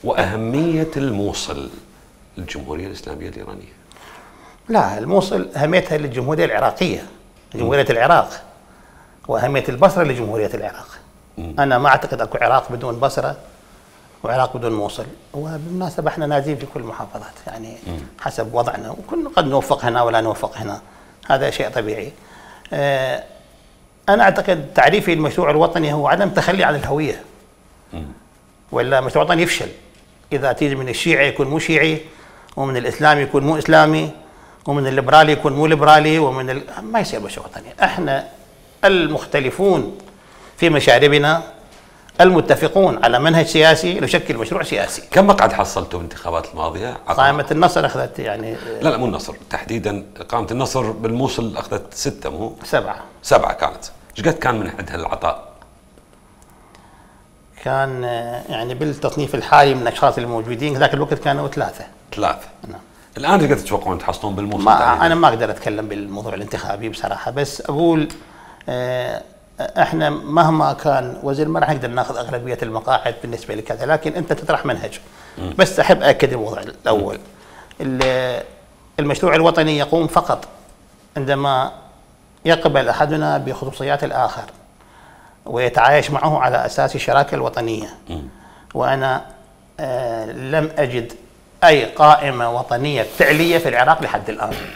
وأهمية الموصل للجمهورية الإسلامية الإيرانية. لا، الموصل أهميتها للجمهورية العراقية، جمهورية العراق، وأهمية البصرة لجمهورية العراق. أنا ما أعتقد أكو عراق بدون بصرة وعراق بدون موصل. وبالمناسبة احنا نازلين في كل المحافظات، يعني حسب وضعنا، وكنا قد نوفق هنا ولا نوفق هنا، هذا شيء طبيعي. أنا أعتقد تعريفي المشروع الوطني هو عدم تخلي عن الهوية، ولا مشروع وطني يفشل إذا تيجي من الشيعي يكون مو شيعي، ومن الإسلامي يكون مو إسلامي، ومن الليبرالي يكون مو ليبرالي، ما يصير مشروع وطني. احنا المختلفون في مشاربنا، المتفقون على منهج سياسي نشكل مشروع سياسي. كم مقعد حصلتوا بالانتخابات الماضية؟ قائمة النصر أخذت يعني لا مو النصر تحديدا، قائمة النصر بالموصل أخذت 6 مو 7 كانت. ايش قد كان من عندها العطاء؟ كان يعني بالتصنيف الحالي من الأشخاص الموجودين ذاك الوقت كانوا 3. نعم. الآن ايش قد تتوقعون تحصلون بالموصل؟ أنا ما أقدر أتكلم بالموضوع الانتخابي بصراحة، بس أقول احنا مهما كان وزير ما راح نقدر ناخذ اغلبيه المقاعد بالنسبه لكذا، لكن انت تطرح منهج. بس احب اكد الموضوع الاول، المشروع الوطني يقوم فقط عندما يقبل احدنا بخصوصيات الاخر ويتعايش معه على اساس الشراكه الوطنيه. وانا لم اجد اي قائمه وطنيه فعليه في العراق لحد الان.